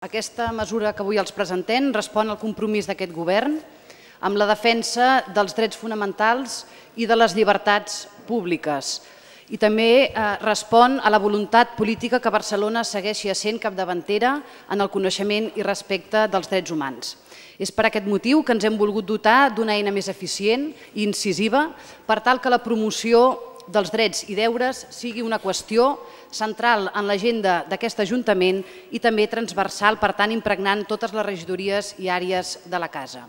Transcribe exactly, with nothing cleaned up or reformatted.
Aquesta mesura que avui els presentem respon al compromís d'aquest govern amb la defensa dels drets fonamentals i de les llibertats públiques i també respon a la voluntat política que Barcelona segueixi essent capdavantera en el coneixement i respecte dels drets humans. És per aquest motiu que ens hem volgut dotar d'una eina més eficient i incisiva per tal que la promoció dels drets i deures sigui una qüestió central en l'agenda d'aquest Ajuntament i també transversal, per tant impregnant totes les regidories i àrees de la casa.